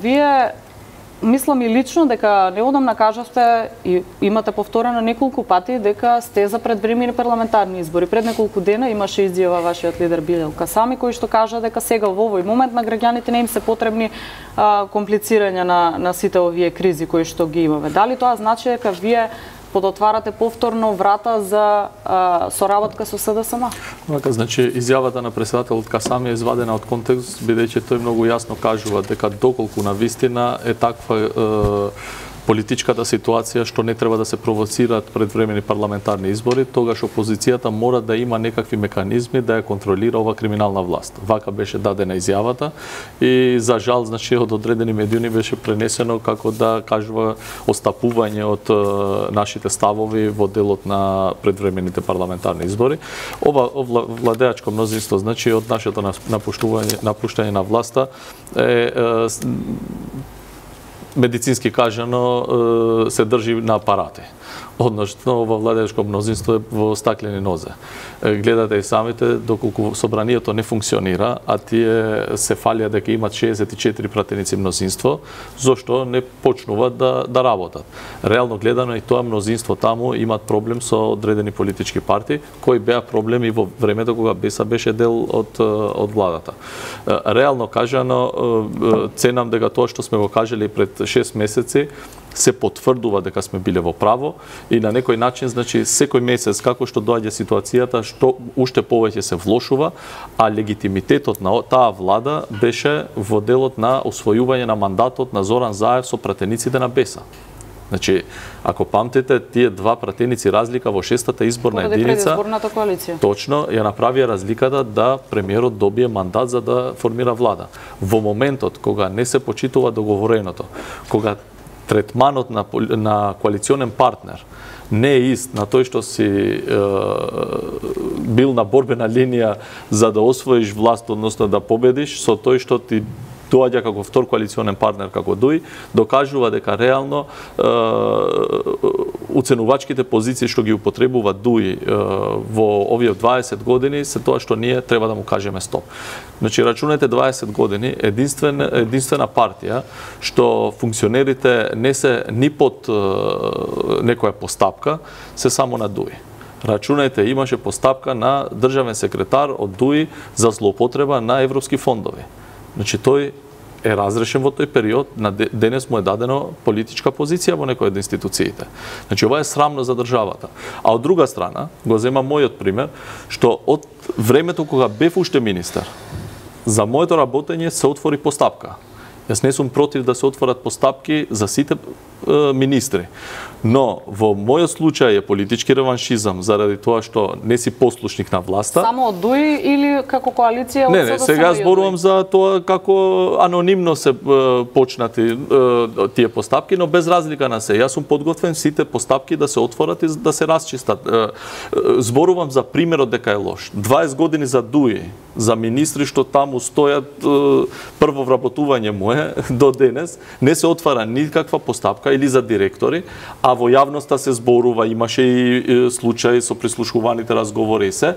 Вие мислам и лично дека неодамна кажавте и имате повторено неколку пати дека сте за предвремени парламентарни избори. Пред неколку дена имаше изјава вашиот лидер Билел Касами кој што кажа дека сега во овој момент на граѓаните не им се потребни комплицирања на сите овие кризи кои што ги имаме. Дали тоа значи дека вие подотварате повторно врата за соработка со СДСМ? Така, значи, изјавата на претседателот Касами е извадена од контекст, бидејќи тој многу јасно кажува дека доколку на вистина е таква политичката ситуација што не треба да се провоцираат предвремени парламентарни избори, тогаш опозицијата мора да има некакви механизми да ја контролира ова криминална власт. Вака беше дадена изјавата и за жал, значи, од одредени медиуми беше пренесено како да кажува остапување од нашите ставови во делот на предвремените парламентарни избори. Ова владеачко мнозинство, значи, од нашето напуштање на власта е медицински кажано се држи на апарати. Односно, ова владеачко мнозинство е во стаклени нозе. Гледате и самите, доколку собранието не функционира, а тие се фалија дека имат 64 пратеници мнозинство, зошто не почнуваат да работат. Реално гледано и тоа мнозинство таму имат проблем со одредени политички партии, кои беа проблеми во времето кога БЕСА беше дел од владата. Реално кажано, ценам дека тоа што сме го кажали пред 6 месеци, се потврдува дека сме биле во право и на некој начин, значи, секој месец како што доаѓа ситуацијата, што уште повеќе се влошува, а легитимитетот на таа влада беше во делот на освојување на мандатот на Зоран Заев со пратениците на БЕСА. Значи, ако памтите, тие два пратеници разлика во 6-та изборна единица, точно ја направија разликата да премиерот добие мандат за да формира влада. Во моментот кога не се почитува договореното, кога третманот на коалиционен партнер не е ист на тој што си бил на борбена линија за да освоиш власт, односно да победиш, со тој што ти доаѓа како втор коалиционен партнер како ДУИ, докажува дека реално уценувачките позиции што ги употребува ДУИ во овие 20 години се тоа што ние треба да му кажеме стоп. Значи, рачунете 20 години, единствена партија што функционерите не се ни под некоја постапка, се само на ДУИ. Рачунете, имаше постапка на државен секретар од ДУИ за злоупотреба на европски фондови. Значи, тој е разрешен во тој период, денес му е дадено политичка позиција во некоја од институциите. Значи, ова е срамно за државата. А од друга страна, го земам мојот пример, што од времето кога бев уште министер, за моето работење се отвори постапка. Јас не сум против да се отворат постапки за сите министри. Но во мојот случај е политички реваншизам заради тоа што не си послушник на власта. Само од ДУИ или како коалиција? Не, сега зборувам за тоа како анонимно се почнати тие постапки, но без разлика на се. Јас сум подготвен сите постапки да се отворат и да се расчистат. Зборувам за примерот дека е лош. 20 години за ДУИ, за министри што таму стојат, прво вработување му е до денес, не се отвара никаква постапка или за директори, а во јавноста се зборува, имаше и случаи со прислушуваните разговори и се.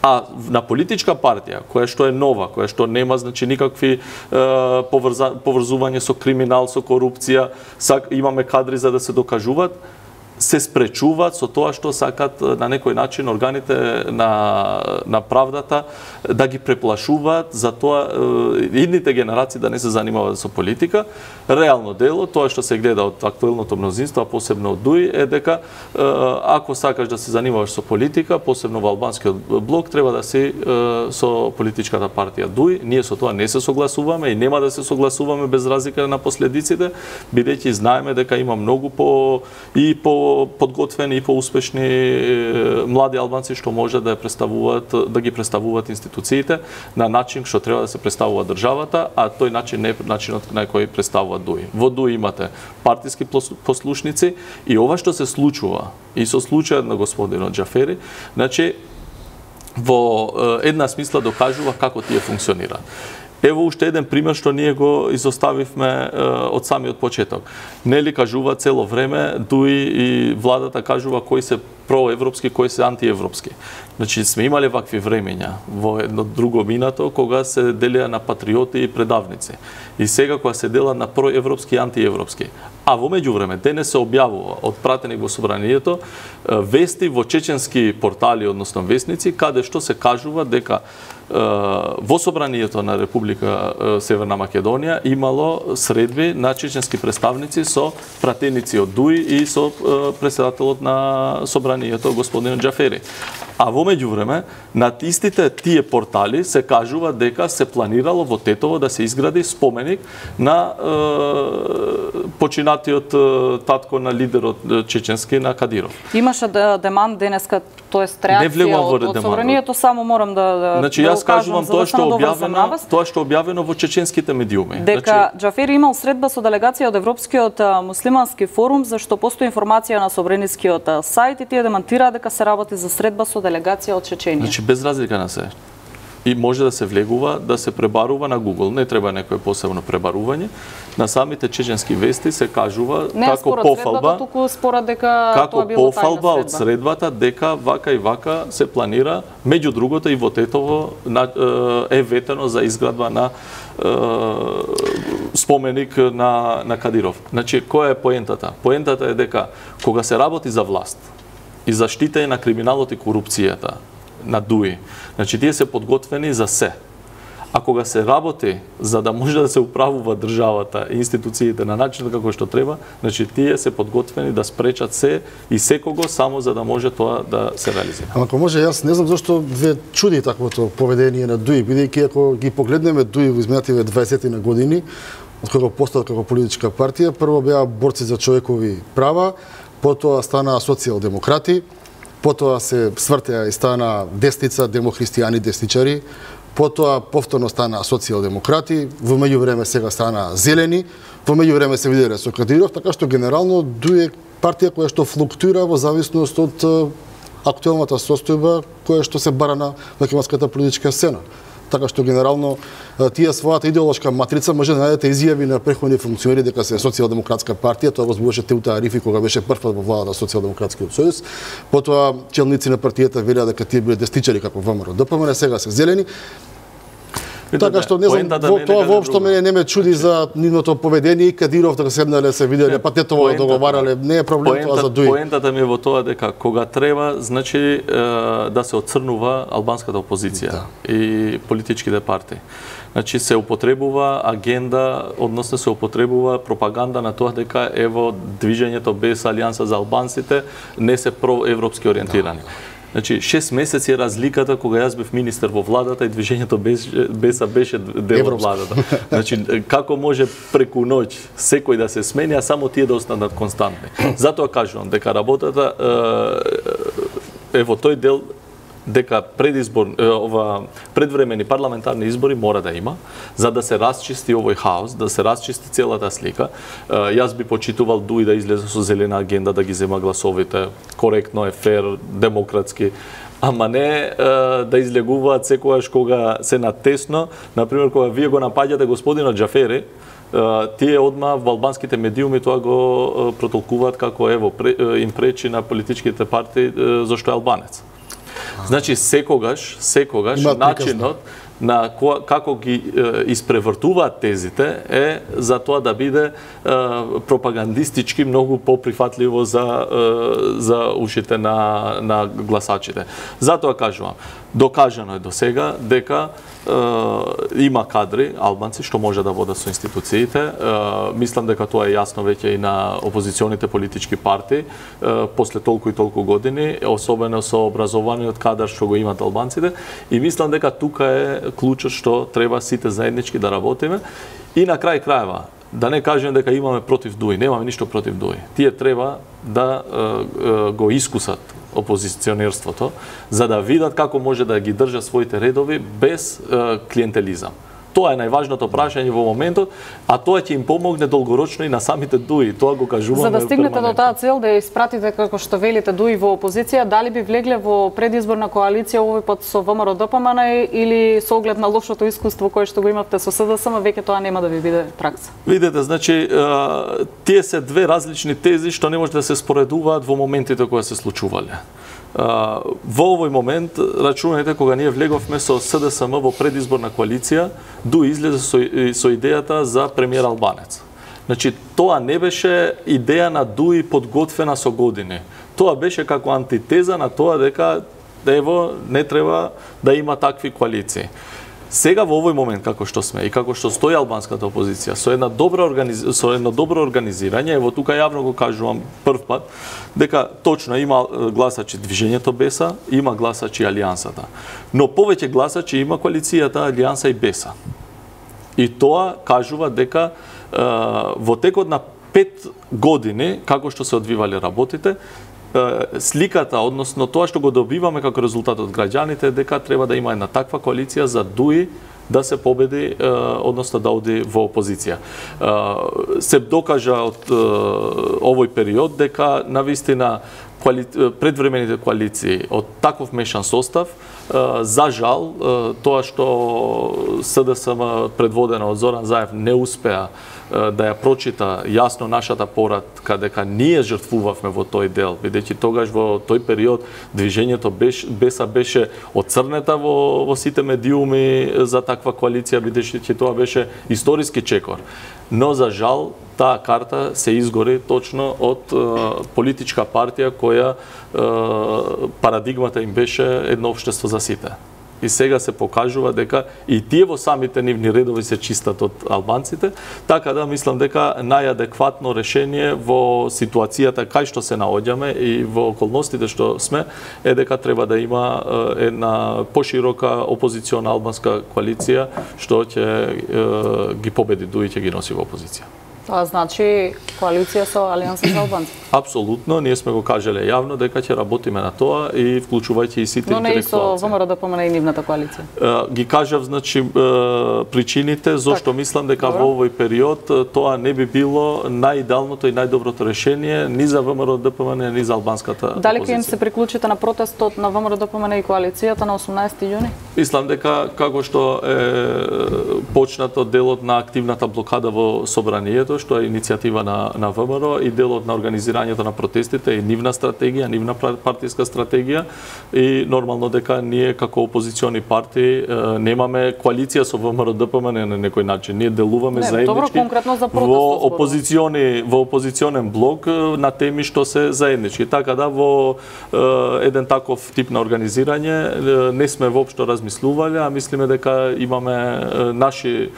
А на политичка партија, која што е нова, која што нема, значи, никакви поврзување со криминал, со корупција, имаме кадри за да се докажуваат, се спречуваат со тоа што сакат на некој начин органите на правдата да ги преплашуваат за тоа идните генерации да не се занимаваат со политика. Реално дело, тоа што се гледа од актуелното мнозинство, а посебно од ДУИ, е дека ако сакаш да се занимаваш со политика, посебно во албанскиот блок, треба да си со политичката партија ДУИ. Ние со тоа не се согласуваме и нема да се согласуваме без разлика на последиците, бидејќи знаеме дека има многу подготвени и поуспешни млади албанци што може да ги представуваат институциите на начин што треба да се представува државата, а тој начин не е начинот на кој представува ДУИ. Во ДУИ имате партиски послушници и ова што се случува и со случајот на господинот Џафери, значи во една смисла докажува како тие функционираат. Ево уште еден пример што ние го изоставивме од самиот почеток. Нели кажува цело време, ДУИ и владата кажува кои се проевропски, кои се антиевропски. Значи сме имале вакви времења во едно друго минато кога се делеа на патриоти и предавници. И сега кога се дела на проевропски и антиевропски. А во меѓувреме денес се објавува од пратени во собранието вести во чеченски портали, односно вестници, каде што се кажува дека во собранието на Република Северна Македонија имало средби на чеченски представници со пратеници од ДУИ и со председателот на собранието господин Џафери. А во меѓувреме над истите тие портали се кажува дека се планирало во Тетово да се изгради споменик на починатиот татко на лидерот чеченски на Кадиров. Имаше деман денеска, тоест реакција од собранието, само морам да значи јас кажувам тоа што објавено во чеченските медиуми. Дека Џафери имал средба со делегација од Европскиот муслимански форум, за што постои информација на собранискиот сајт и тие демантираа дека се работи за средба со делегација од Чеченија. Значи без разлика на се. И може да се влегува, да се пребарува на Google. Не треба некое посебно пребарување. На самите чеченски вести се кажува како пофалба, како пофалба од средбата дека вака и вака се планира, меѓу другото и во Тетово е ветено за изградба на споменик на Кадиров. Значи, која е поентата? Поентата е дека кога се работи за власт и заштитање на криминалот и корупцијата на ДУИ, значи тие се подготвени за се. А кога се работи за да може да се управува државата и институциите на начинот како што треба, значи тие се подготвени да спречат се и секого само за да може тоа да се реализира. Ама ако може, јас не знам зашто ве чуди таквото поведение на ДУИ, бидејќи ако ги погледнеме ДУИ во изминативе 20 на години, од кога постала како политичка партија, прво беа борци за човекови права, потоа стана социјалдемократи, потоа се свртеа и стана десница, демохристијани, десничари, потоа повторно стана социјалдемократи, во меѓувреме сега стана зелени, во меѓувреме се виделе со Кадиров, така што генерално ДУИ е партија која што флуктуира во зависност од актуелната состојба која што се бара на македонската политичка сцена. Така што генерално тие својата идеолошка матрица може да најдете изјави на претходни функционери дека се социјалдемократска партија, тоа возбудеше Теута Арифи кога беше прв во владата социјалдемократскиот сојуз. Потоа челници на партијата велеа дека тие биле десничари како ВМРО ДПМН, сега се зелени. Така што не знам, тоа воопшто мене не ме чуди за нивното поведение и Кадиров дека седнале се виделе, па Тетово договарале, не е проблем тоа за ДУИ. Поентата ми е во тоа дека кога треба, значи да се отцрнува албанската опозиција и политичките партии. Значи се употребува агенда, односно се употребува пропаганда на тоа дека ево движењето без алијанса за албанците не се проевропски ориентирани. Значи 6 месеци е разликата кога јас бев министер во владата и движењето без беше дел од владата. Значи како може преку ноќ секој да се смени, а само тие да останат константни. Затоа кажувам дека работата во тој дел дека предвремени парламентарни избори мора да има, за да се расчисти овој хаос, да се расчисти целата слика. Јас би почитувал ДУИ да излезе со зелена агенда, да ги зема гласовите, коректно е, фер, демократски, ама не да излегуваат секогаш кога се натесно, например кога вие го напаѓате господинот Џафери, тие одма во албанските медиуми тоа го протолкуваат како ево им пречи на политичките партии зашто е албанец. Значи секогаш начинот на како ги испревртуваат тезите е за тоа да биде пропагандистички многу поприфатливо за ушите на гласачите. Затоа кажувам, докажано е до сега дека има кадри албанци што може да водат со институциите. Мислам дека тоа е јасно веќе и на опозиционите политички партии после толку и толку години, особено со образованиот кадар што го имаат албанците, и мислам дека тука е клучот што треба сите заеднички да работиме. И на крај крајва, да не кажем дека имаме против ДУИ, немаме ништо против ДУИ. Тие треба да го искусат опозиционерството, за да видат како може да ги држат своите редови без клиентелизам. Тоа е најважното прашање во моментот, а тоа ќе им помогне долгорочно и на самите ДУИ. Тоа го кажуваме. За да стигнете до таа цел да ја испратите како што велите ДУИ во опозиција, дали би влегле во предизборна коалиција овој пат со ВМРО ДПМН или со оглед на лошото искуство кое што го имавте со СДСМ, веќе тоа нема да ви биде пракса? Видете, значи тие се две различни тези што не може да се споредуваат во моментите кои се случувале. Во овој момент, рачунајте, кога ние влеговме со СДСМ во предизборна коалиција, ДУИ излезе со идејата за премиер албанец. Значи, тоа не беше идеја на ДУИ подготвена со години. Тоа беше како антитеза на тоа дека ево не треба да има такви коалиции. Сега во овој момент како што сме и како што стои албанската опозиција со едно добро организирање, ево тука јавно го кажувам прв пат дека точно има гласачи движењето БЕСА, има гласачи Алијансата. Но повеќе гласачи има коалицијата Алијанса и БЕСА. И тоа кажува дека во текот на 5 години како што се одвивале работите, сликата, односно тоа што го добиваме како резултат од граѓаните, дека треба да има една таква коалиција за ДУИ да се победи, односно да оди во опозиција. Се докажа од овој период дека навистина предвремените коалиции од таков мешан состав, за жал, тоа што СДСМ предводена од Зоран Заев не успеа да ја прочита јасно нашата поратка дека ние жртвувавме во тој дел, бидејќи тогаш во тој период движењето БЕСА беше оцрнета во сите медиуми за таква коалиција, бидејќи тоа беше историски чекор. Но за жал таа карта се изгори точно од политичка партија која парадигмата им беше едно општество за сите. И сега се покажува дека и тие во самите нивни редови се чистат од албанците, така да мислам дека најадекватно решение во ситуацијата кај што се наоѓаме и во околностите што сме е дека треба да има една поширока опозициона албанска коалиција што ќе ги победи ДУИ, ќе ги носи во опозиција. Тоа значи коалиција со Алијанса за албанци? Апсолутно, ние сме го кажале јавно дека ќе работиме на тоа и вклучувајќи и сите интелектуалци. Но не и со ВМРО ДПМН и нивната коалиција? Ги кажав, значи, причините зошто мислам дека во овој период тоа не би било најидеалното и најдоброто решение ни за ВМРО ДПМН, ни за албанската опозиција. Дали ќе им се приклучите на протестот на ВМРО ДПМН и коалицијата на 18 јуни? Мислам дека како што е почнато делот на активната блокада во собранието, што е иницијатива на ВМРО и делот на организирањето на протестите и нивна стратегија, нивна партиска стратегија и нормално дека ние како опозициони партии немаме коалиција со ВМРО ДПМН на некој начин. Ние делуваме заеднички во опозиционен блок на теми што се заеднички. Така да во еден таков тип на организирање не сме воопшто размислувале, а мислиме дека имаме наши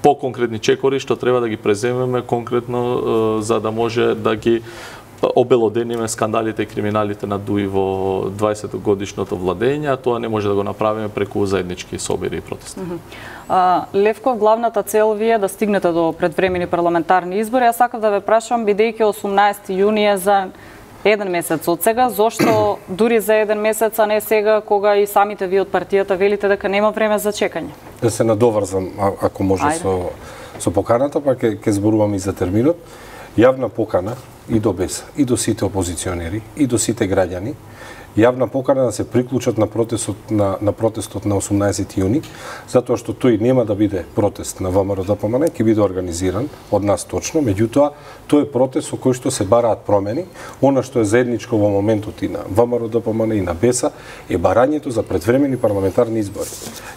поконкретни чекори што треба да ги преземеме конкретно за да може да ги обелодениме скандалите и криминалите на ДУИ во 20-годишното владење, а тоа не може да го направиме преку заеднички собери и протести. Левков, главната цел ви е да стигнете до предвремени парламентарни избори. Јас сакав да ве прашам, бидејќи 18 јуни е за еден месец од сега, зошто дури за еден месец, а не сега, кога и самите ви од партијата велите дека нема време за чекање? Да се надоврзам, ако може, со поканата, па ќе зборувам и за терминот. Јавна покана и до БЕСА, и до сите опозиционери, и до сите граѓани, јавна покана да се приклучат на протестот на 18 јуни, затоа што тој нема да биде протест на ВМРО ДПМН, ќе биде организиран од нас точно, меѓутоа тој е протест со кој што се бараат промени. Она што е заедничко во моментот и на ВМРО ДПМН и на БЕСА е барањето за предвремени парламентарни избори.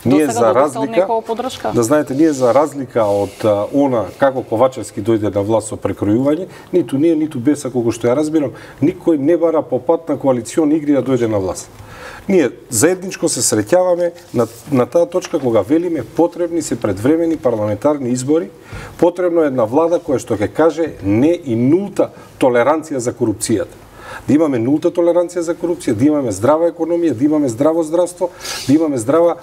Ние за разлика, да знаете, ние за разлика од она како Ковачевски дојде на власт со прекројување, ниту ние, ниту БЕСА, колку што ја разбирам, никој не бара по пат на коалициони игри да дојде на власт. Ние заедничко се среќаваме на таа точка кога велиме потребни се предвремени парламентарни избори, потребно е една влада која што ќе каже не и нулта толеранција за корупцијата. Да имаме нулта толеранција за корупција, да имаме здрава економија, да имаме здраво здравство, да имаме здрава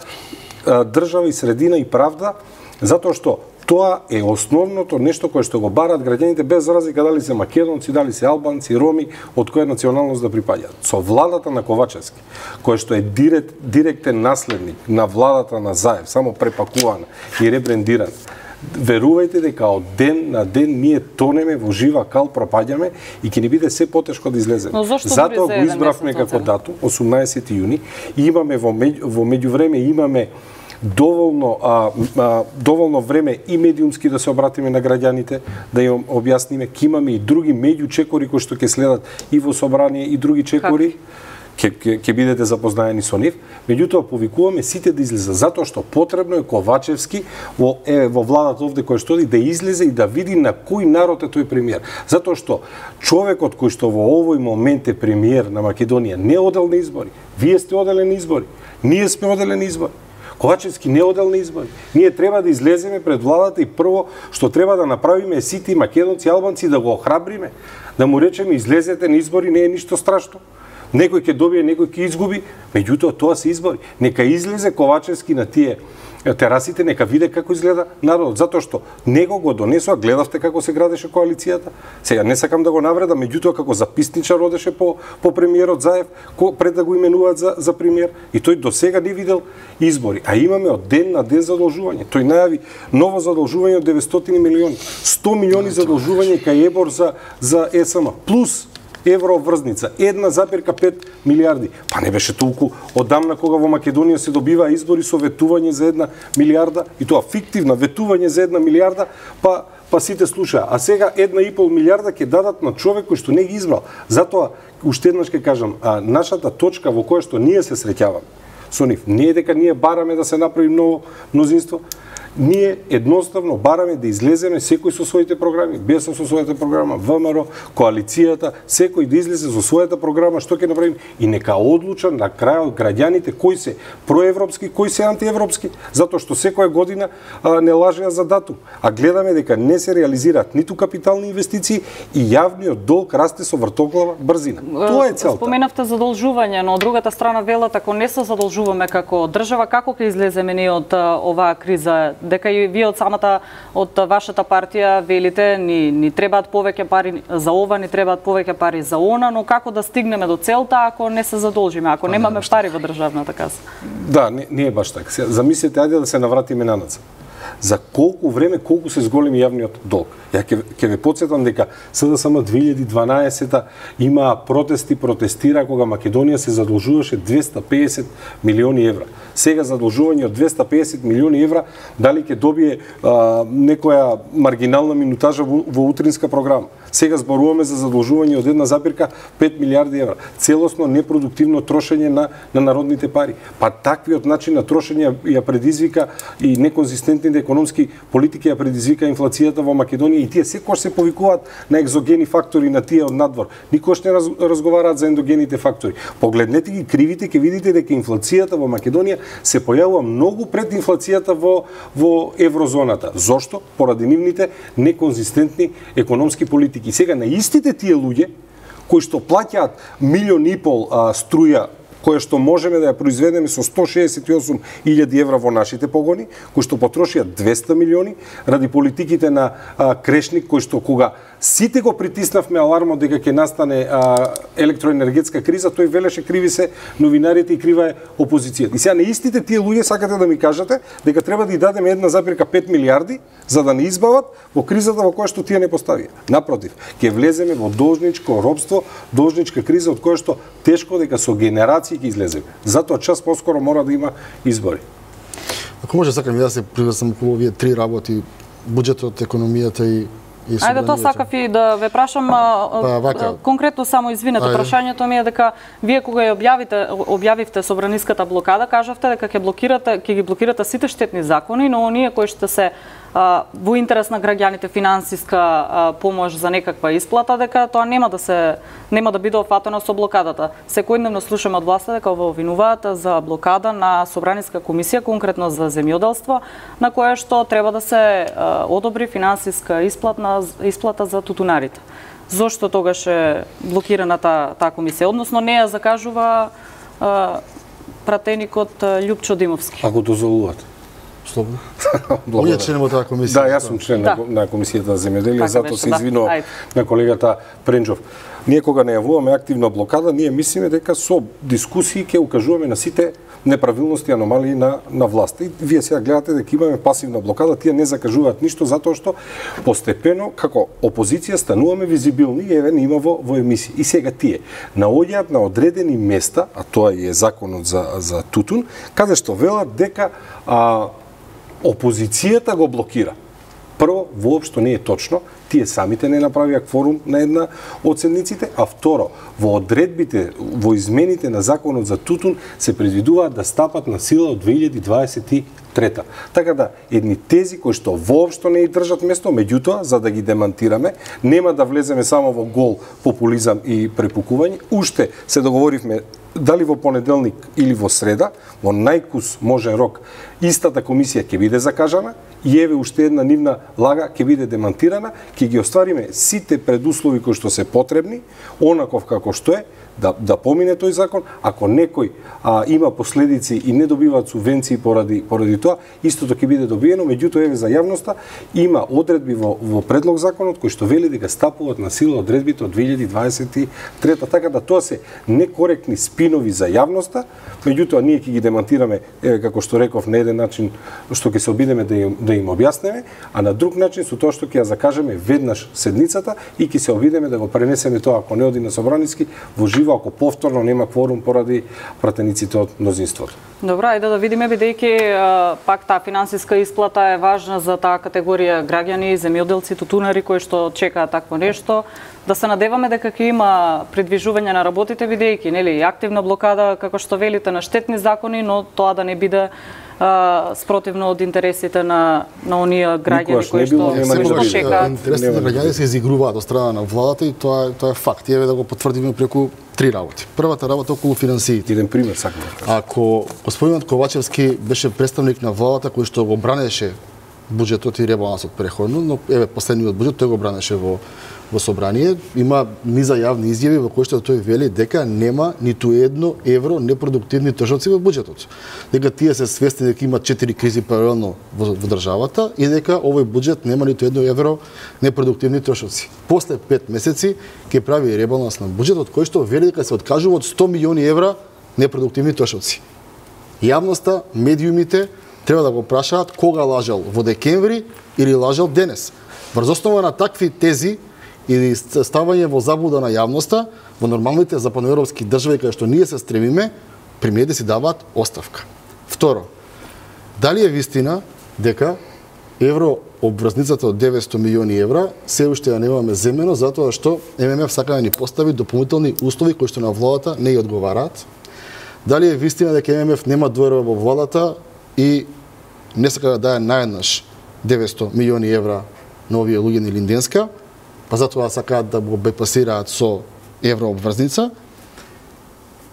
држава и средина и правда, затоа што тоа е основното нешто кое што го бараат граѓаните без разлика дали се македонци, дали се албанци, роми, од која националност да припаѓаат. Со владата на Ковачевски, кој што е директен наследник на владата на Заев, само препакувана и ребрендирана, верувајте дека од ден на ден ние тонеме во жива кал, пропаѓаме и ќе ни биде се потешко да излеземе. Затоа го избравме како датум 18 јуни и имаме во меѓувреме имаме доволно време и медиумски да се обратиме на граѓаните, да им објасниме, ке имаме и други меѓу чекори кои што ќе следат и во собрание и други чекори. Ќе бидете запознаени со нив, меѓутоа повикуваме сите да излезат, затоа што потребно е Ковачевски во владата овде кој што да излезе и да види на кој народ е тој премиер. Затоа што човекот кој што во овој момент е премиер на Македонија не одел на избори. Вие сте одели на избори. Ние сме одели на избори. Ковачевски не одел на избори. Ние треба да излеземе пред владата и прво што треба да направиме сите македонци и албанци да го охрабриме, да му речеме излезете на избори, не е ништо страшно. Некој ќе добие, некој ќе изгуби, меѓутоа тоа се избори. Нека излезе Ковачевски на тие терасите, нека виде како изгледа народот, затоа што него го донесоа, гледавте како се градеше коалицијата. Сега не сакам да го навредам, меѓутоа како записничар одеше по премиерот Заев пред да го именуваат за премиер и тој до сега не видел избори, а имаме од ден на ден задолжување. Тој најави ново задолжување од 900 милиони, 100 милиони задолжување кај ЕБОР за ЕСМ плюс евро врзница, 1,5 милиарди. Па не беше толку одамна кога во Македонија се добива избори со ветување за 1 милиарда и тоа фиктивна ветување за 1 милиарда, па сите слушаа. А сега 1,5 милиарда ќе дадат на човек кој што не ги избрал. Затоа уште еднаш ќе кажам, нашата точка во која што ние се среќаваме со нив не е дека ние бараме да се направи ново мнозинство. Ние едноставно бараме да излеземе секој со своите програми, БЕС со својата програма, ВМРО, коалицијата, секој да излезе со својата програма, што ќе направим и нека одлучат на крајот граѓаните кои се проевропски, кои се антиевропски, затоа што секоја година не лажеа за датум, а гледаме дека не се реализираат ниту капитални инвестиции и јавниот долг расте со вртоглава брзина. Тоа е целта. Споменавте задолжување, но од другата страна велат ако не се задолжуваме како држава, како ќе излеземе ние од оваа криза? Дека и вие од вашата партија велите ни требаат повеќе пари за ова, ни требаат повеќе пари за она, но како да стигнеме до целта ако не се задолжиме, ако немаме пари во државната каса? Да, не е баш така. Замислете, ајде да се навратиме на назад. За колку време, колку се зголеми јавниот долг? Ја ќе ве потсетам дека СДСМ 2012 има протестира кога Македонија се задолжуваше 250 милиони евра. Сега задолжување од 250 милиони евра, дали ќе добие некоја маргинална минутажа во утринска програма. Сега зборуваме за задолжување од 1,5 милиарди евра. Целосно непродуктивно трошење на народните пари. Па таквиот начин на трошење ја предизвика и неконзистентните економски политики ја предизвика инфлацијата во Македонија и тие секогаш се повикуваат на екзогени фактори, на тие од надвор. Никош не разговараат за ендогените фактори. Погледнете ги кривите, ќе видите дека инфлацијата во Македонија се појавува многу пред инфлацијата во еврозоната. Зошто? Поради нивните неконзистентни економски политики. И сега на истите тие луѓе кои што плаќаат 1,5 милиони струја која што можеме да ја произведеме со 168.000 евра во нашите погони, кои што потрошија 200 милиони ради политиките на Крешник, кој што кога сите го притиснавме алармот дека ќе настане електроенергетска криза, тој велеше криви се новинарите и крива е опозицијата. И сега на истите тие луѓе сакате да ми кажете дека треба да ја дадеме 1,5 милиарди за да не избават во кризата во која што тие не поставија. Напротив, ќе влеземе во должничко робство, должничка криза од која што тешко дека со генерации ќе излеземе. Затоа час поскоро мора да има избори. Ако може сакам да се приврсам околу овие три работи: буџетот, економијата и Ајде, тоа сакав и да ве прашам конкретно, само извинете, прашањето ми е дека вие кога ја објавивте собраниската блокада, кажавте дека ќе ги блокирате сите штетни закони, но оние кои што се во интерес на граѓаните финансиска помош за некаква исплата, дека тоа нема да биде офатено со блокадата. Секојдневно слушаме од власта дека во обвинуваат за блокада на собраниска комисија, конкретно за земјоделство, на која што треба да се одобри финансиска исплата за тутунарите. Зошто тогаш е блокирана таа комисија? Односно не ја закажува пратеникот Љупчо Димовски. Ако дозволувате. Слободно. Оние членот таа комисија. Да, јас сум член на комисијата за земјоделие, затоа се извинувам на колегата Пренџов. Ние кога најавуваме активна блокада, ние мислиме дека со дискусии ќе укажуваме на сите неправилности и аномалии на власта. И вие сега гледате дека имаме пасивна блокада, тие не закажуваат ништо затоа што постепено како опозиција стануваме визибилни и еве не има во емисии. И сега тие наоѓаат на одредени места, а тоа е законот за тутун, каде што велат дека опозицијата го блокира. Прво, воопшто не е точно, тие самите не направија кворум на една од седниците, а второ, во одредбите, во измените на законот за тутун се предвидуваат да стапат на сила од 2023. Така да, едни тези кои што воопшто не и држат место, меѓутоа, за да ги демантираме, нема да влеземе само во гол популизам и препукување, уште се договоривме дали во понеделник или во среда, во најкус можен рок, истата комисија ќе биде закажана и еве уште една нивна лага ќе биде демантирана, ќе ги оствариме сите предуслови кои што се потребни, онаков како што е, да помине тој закон. Ако некој има последици и не добиваат субвенции поради тоа, истото ќе биде добиено, меѓутоа еве за јавноста има одредби во предлог законот кои што вели дека стапуваат на сила одредбите од 2023, така да тоа се некоректни спинови за јавноста, меѓутоа ние ќе ги демантираме, еве како што реков, на еден начин што ќе се обидеме да им објаснеме, а на друг начин со тоа што ќе ја закажеме веднаш седницата и ќе се обидеме да го пренесеме тоа, ако не оди на собраниски, во живо, ако повторно нема кворум поради пратениците од мнозинството. Добро, ајде да видиме, бидејќи пак таа финансиска исплата е важна за таа категорија граѓани, земјоделци, тутунари кои што чекаат такво нешто. Да се надеваме дека ќе има придвижување на работите, бидејќи нели активна блокада, како што велите, на штетни закони, но тоа да не биде спротивно од интересите на оние граѓани кои што чекаат. Интересите на граѓани се изигруваат од страна на владата и тоа е факт. Еве да го потврдиме преку три работи. Првата работа околу финансиите. Еден пример сакам да кажам. Ако господинот Ковачевски беше представник на владата кој што го бранеше буџетот и ребалансот преходно, но еве последниот буџет тој го бранеше во собрание, има низа јавни изјави во кои што тој вели дека нема ниту едно евро непродуктивни трошоци во буџетот. Дека тие се свесни дека има 4 кризи паралелно во државата и дека овој буџет нема ниту едно евро непродуктивни трошоци. После 5 месеци ќе прави ребаланс на буџетот кој што вели дека се откажува од 100 милиони евра непродуктивни трошоци. Јавноста, медиумите треба да го прашаат кога лажал, во декември или лажал денес. Врз основа на такви тези или ставање во заблуда на јавноста, во нормалните западноевропски држави каде што ние се стремиме, премиерите си даваат оставка. Второ, дали е вистина дека еврообврзницата од 900 милиони евра се уште ја немаме земено затоа што ММФ сака да ни постави дополнителни услови кои што на владата не ја одговараат? Дали е вистина дека ММФ нема доверба во владата и не сака да даде наеднаш 900 милиони евра на овие луѓе на Линденска, па затоа сакаат да го бепасираат со еврообврзница?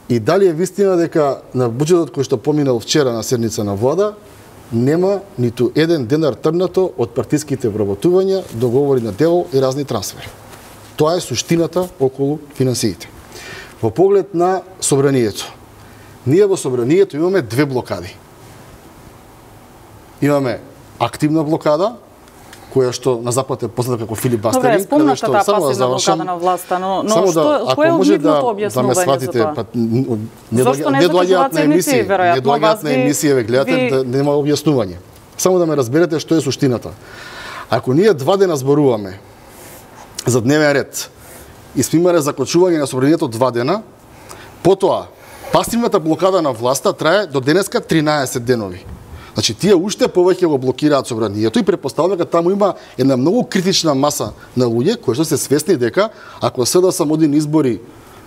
И дали е вистина дека на буџетот кој што поминал вчера на седница на влада нема ниту еден денар трнато од партиските вработувања, договори на дело и разни трансфери? Тоа е суштината околу финансиите. Во поглед на собранието. Ние во собранието имаме две блокади. Имаме активна блокада, која што на запад е позната како филибастеринг, каде што само да завршам на власта, но што кој е обидното објаснување за тоа? Не доаѓаат на емисија, не доаѓаат на емисија, ве гледате, нема објаснување. Само да ме разберете што е суштината. Ако ние 2 дена зборуваме за дневен ред и сме имале закочување на собранието 2 дена, потоа пасивната блокада на власта трае до денеска 13 денови. Значи, тие уште повеќе го блокираат собранието и претпоставувам дека таму има една многу критична маса на луѓе кои што се свесни дека ако СДСМ оди на избори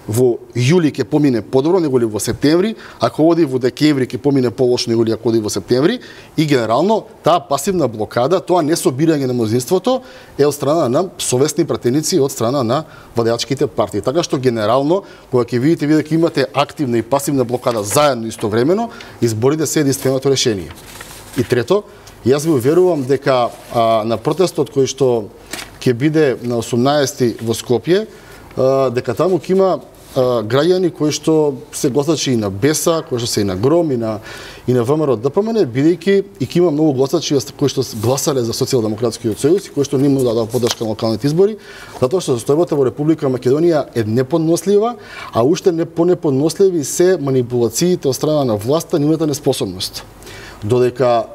во јули ќе помине подобро неголи во септември, ако оди во декември ќе помине полошо неголи ако оди во септември и генерално таа пасивна блокада, тоа несобирање на мнозинството е од страна на совесни пратеници од страна на владеачките партии. Така што генерално кога ќе видите дека имате активна и пасивна блокада заедно истовремено, изборите се единственото решение. И трето, јас ви уверувам дека на протестот кој што ќе биде на 18 во Скопје, дека таму ќе има граѓани кои што се гласачи и на БЕСА, кои што се и на ГРОМ, и на ВМРО ДПМН, бидејќи и ќе има многу гласачи кои што гласале за Социјалдемократскиот сојуз и кои што не му дадоа поддршка на локалните избори, затоа што состојбата во Република Македонија е неподнослива, а уште понеподносливи се манипулациите од страна на власта, нивната неспособност. Додека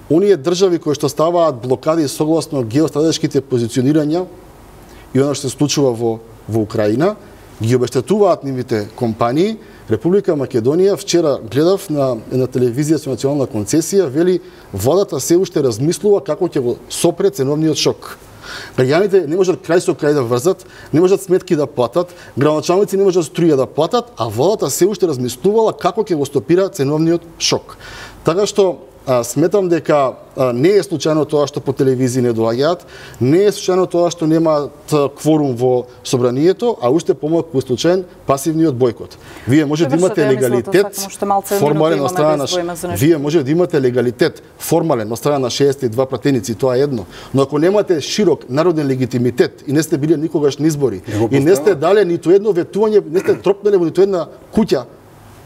оние држави кои што ставаат блокади согласно геостратешките позиционирања и оно што се случува во Украина, ги обештетуваат нивните компании. Република Македонија, вчера гледав на телевизија со национална концесија, вели владата се уште размислува како ќе го сопре ценовниот шок. Граѓаните не можат крај со крај да врзат, не можат сметки да платат, градоначалници не можат струја да платат, а владата се уште размислувала како ќе го стопира ценовниот шок. Така што сметам дека не е случајно тоа што по телевизии не доаѓаат, не е случајно тоа што немаат кворум во собранието, а уште помалку е случаен пасивниот бојкот. Вие може да имате легалитет формален од страна на Вие може да имате легалитет формален од страна на 62 пратеници, тоа е едно, но ако немате широк народен легитимитет и не сте биле никогаш на избори и не сте дале ниту едно ветување, не сте тропнале во ниту една куќа,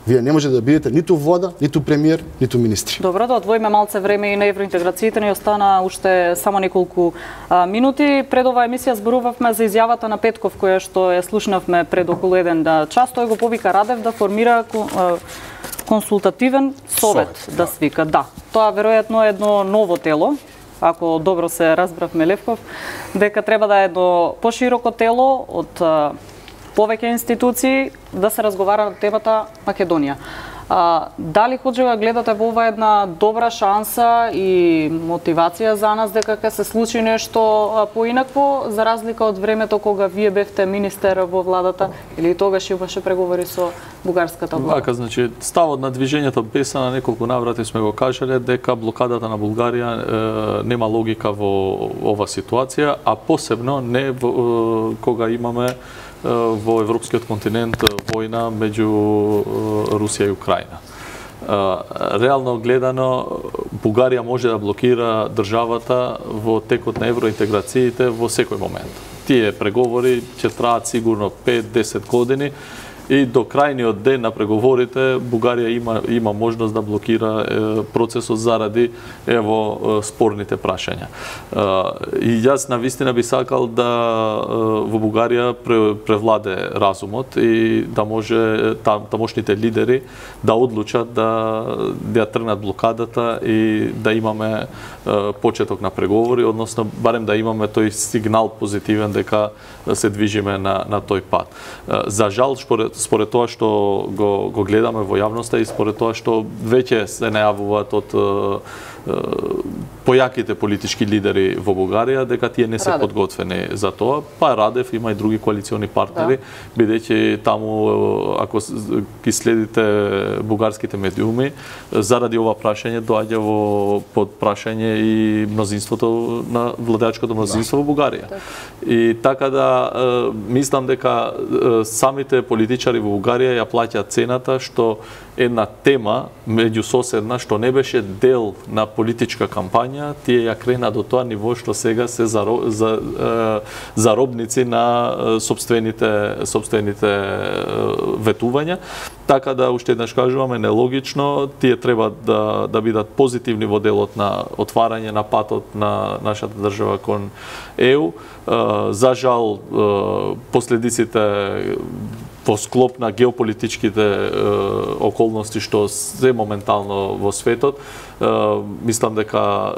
вие не може да бидете ниту влада, ниту премиер, ниту министри. Добро, да одвоиме малце време и на евроинтеграциите, ни остана уште само неколку минути. Пред оваа емисија зборувавме за изјавата на Петков, која што ја слушнавме пред околу еден час. Тој го повика Радев да формира консултативен совет да свика. Да, тоа веројатно е едно ново тело, ако добро се разбравме Левков, дека треба да е едно пошироко тело од повеќе институции да се разговара на темата Македонија. Дали Ходжева гледате во ова една добра шанса и мотивација за нас дека ќе се случи нешто поинакво, за разлика од времето кога вие бевте министер во владата или тогаш имаше преговори со бугарската влада? Така, значи, ставот на движењето БЕСА на неколку наврати сме го кажале дека блокадата на Бугарија нема логика во ова ситуација, а посебно не кога имаме во европскиот континент војна меѓу Русија и Украина. Реално гледано, Бугарија може да блокира државата во текот на евроинтеграциите во секој момент. Тие преговори ќе траат сигурно 5-10 години и до крајниот ден на преговорите Бугарија има можност да блокира процесот заради спорните прашања. И јас навистина би сакал да во Бугарија превладе разумот и да може тамошните лидери да одлучат да ја тргнат блокадата и да имаме почеток на преговори, односно барем да имаме тој сигнал позитивен дека се движиме на тој пат. За жал, според тоа што го гледаме во јавноста и според тоа што веќе се најавуваат од појаките политички лидери во Бугарија дека тие не се подготвени за тоа, па Радев има и други коалициони партнери, бидејќи таму ако ги следите бугарските медиуми, заради ова прашање доаѓа под прашање и мнозинството на владеачкото мнозинство во Бугарија. И така да мислам дека самите политичари во Бугарија ја плаќаат цената што една тема меѓусоседна што не беше дел на политичка кампања, тие ја крена до тоа ниво што сега се заробници на сопствените ветувања. Така да уште еднаш кажуваме нелогично, тие треба да бидат позитивни во делот на отварање на патот на нашата држава кон ЕУ. За жал последиците во склоп на геополитичките околности што се моментално во светот, мислам дека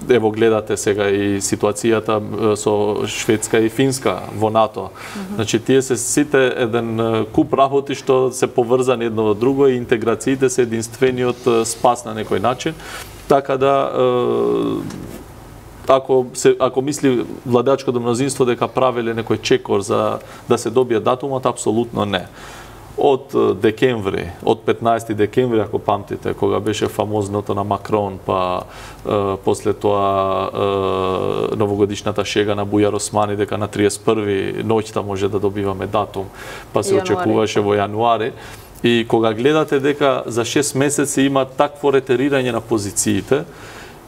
ево гледате сега и ситуацијата со Шведска и Финска во НАТО. Значи тие се сите еден куп работи што се поврзани едно во друго и интеграциите се единствениот спас на некој начин. Така да ако мисли владеачкото мнозинство дека правеле некој чекор за да се добие датумот, апсолутно не. Од декември, од 15 декември, ако памтите, кога беше фамозното на Макрон, па после тоа новогодишната шега на Бујар Османи дека на 31 ноќта може да добиваме датум, па се очекуваше во јануари. И кога гледате дека за 6 месеци има такво ретерирање на позициите,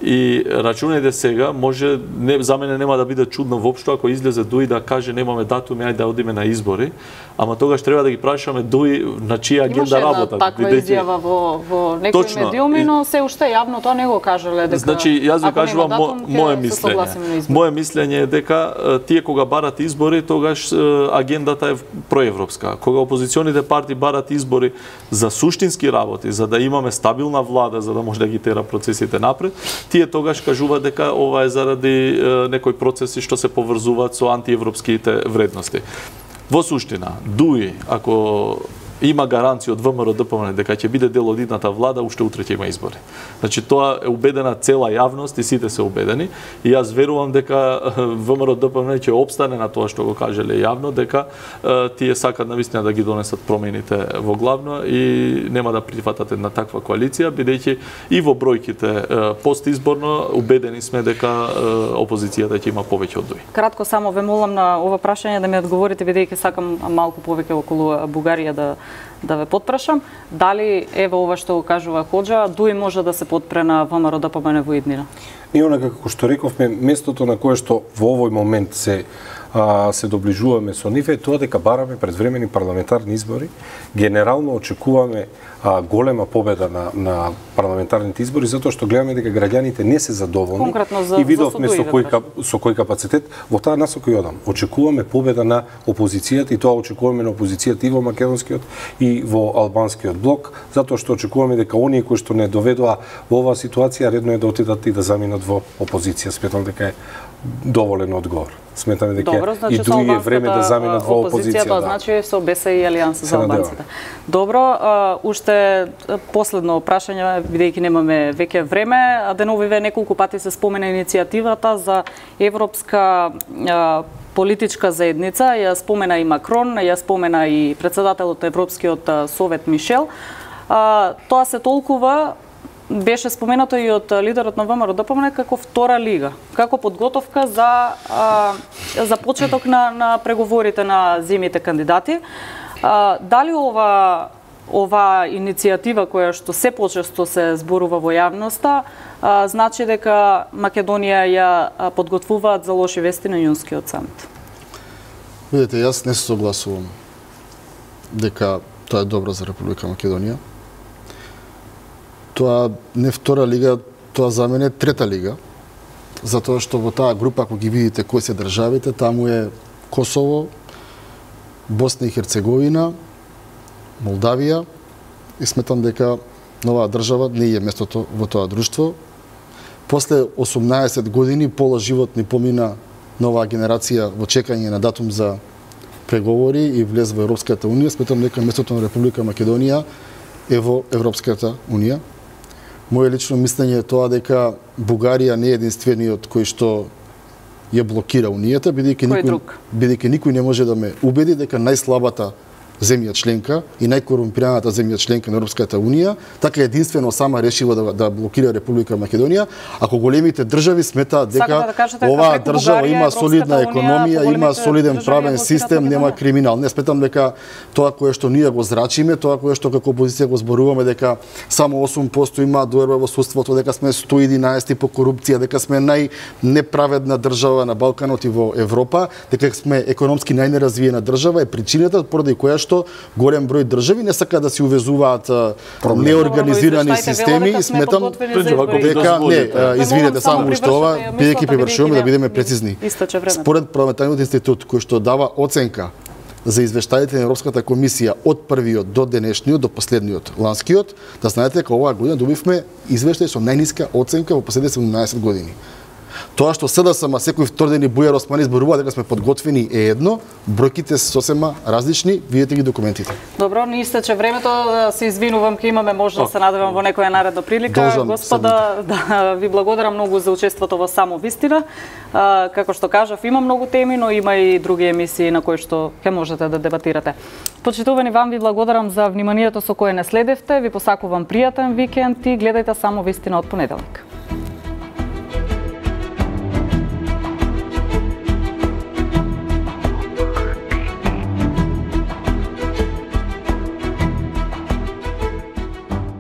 И рачунајте сега, може за мене нема да биде чудно воопшто ако излезе Дуи да каже немаме датуми, ајде да одиме на избори, ама тогаш треба да ги прашаме Дуи на чија агенда работат. Имаше таква изјава во некои медиуми, но се уште јавно тоа не го кажале дека. Значи јас ви кажувам мое мислење. Мое мислење е дека тие кога барат избори, тогаш агендата е проевропска. Кога опозиционите партии барат избори за суштински работи, за да имаме стабилна влада, за да може да ги тера процесите напред, тие тогаш кажуваат дека ова е заради некои процеси што се поврзуваат со антиевропските вредности. Во суштина, Дуи, ако има гаранција од ВМРО ДПМН дека ќе биде дел од идната влада, уште утре ќе има избори. Значи тоа е убедена цела јавност и сите се убедени и јас верувам дека ВМРО ДПМН ќе опстане на тоа што го кажале јавно, дека тие сакат навистина да ги донесат промените во главно и нема да прифатат една таква коалиција, бидејќи и во бројките постизборно убедени сме дека опозицијата ќе има повеќе од Дуи. Кратко само ве молам на ова прашање да ми одговорите, бидејќи сакам малку повеќе околу Бугарија да ве потпрашам. Дали ево ова што го кажува Хоџа, Дуи може да се потпре на ВМРО ДПМН во иднина? Ние онака како што рековме, местото на кое што во овој момент се доближуваме со нив е тоа дека бараме предвремени парламентарни избори. Генерално очекуваме голема победа на парламентарните избори, затоа што гледаме дека граѓаните не се задоволни и видовме со кој капацитет. Во таа насока и одам. Очекуваме победа на опозицијата и тоа очекуваме на опозицијата и во македонскиот и во албанскиот блок, затоа што очекуваме дека оние кои што не доведоа во оваа ситуација редно е да отидат и да заминат во опозиција. Сметам дека е доволен одговор. Сметаме дека и Дуи е време да заминат во опозиција. Тоа значи со БС и Алијанса за албанците. Добро, уште последно прашање, бидејќи немаме веќе време, деновиве неколку пати се спомена иницијативата за европска политичка заедница, ја спомена и Макрон, ја спомена и председателот на Европскиот совет Мишел. Тоа се толкува, беше споменато и од лидерот на ВМРО ДПМН како втора лига, како подготовка за почеток на преговорите на земјите кандидати. Дали ова иницијатива која што се почесто се зборува во јавноста, значи дека Македонија ја подготвуваат за лоши вести на јунскиот самит? Видете, јас не се согласувам дека тоа е добро за Република Македонија. Тоа не втора лига, тоа за мене трета лига, затоа што во таа група, ако ги видите кои се државите, таму е Косово, Босна и Херцеговина, Молдавија и сметам дека новаа држава не е местото во тоа друштво. После 18 години пола живот ни помина новаа генерација во чекање на датум за преговори и влез во Европската унија. Сметам дека местото на Република Македонија е во Европската унија. Моје лично мислење е тоа дека Бугарија не е единствениот кој што ја блокира унијата, бидејќи никој не може да ме убеди дека најслабата земја членка и најкорумпираната земја членка на Европската унија, така единствено сама решила да блокира Република Македонија, ако големите држави сметаат дека оваа држава има солидна економија, има солиден правен систем, нема криминал. Не сметам дека тоа кое што ние го зрачиме, тоа кое што како опозиција го зборуваме дека само 8% има доверба во судството, дека сме 111 по корупција, дека сме најнеправедна држава на Балканот и во Европа, дека сме економски најнеразвиена држава, е причината поради која што голем број држави не сакаат да се увезуваат неорганизирани системи и сметам дека извинете само уште ова, бидејќи привршуваме да бидеме прецизни. Според парламентарниот институт кој што дава оценка за извештаите на Европската комисија од првиот до денешниот, до последниот, ланскиот, да знаете дека оваа година добивме извештај со најниска оценка во последните 17 години. Тоа што СДСМ секој втор ден и Бујар Османи зборува дека сме подготвени е едно, бројките се сосема различни, видете ги документите. Добро, ни истече времето, се извинувам, ке имаме можност да се надевам во некоја наредна прилика. Господа, да ви благодарам многу за учеството во Само вистина. Како што кажав, има многу теми, но има и други емисии на кои што ќе можете да дебатирате. Почитувани, вам ви благодарам за вниманието со кое не следевте, ви посакувам пријатен викенд и гледајте Само вистина од понеделник.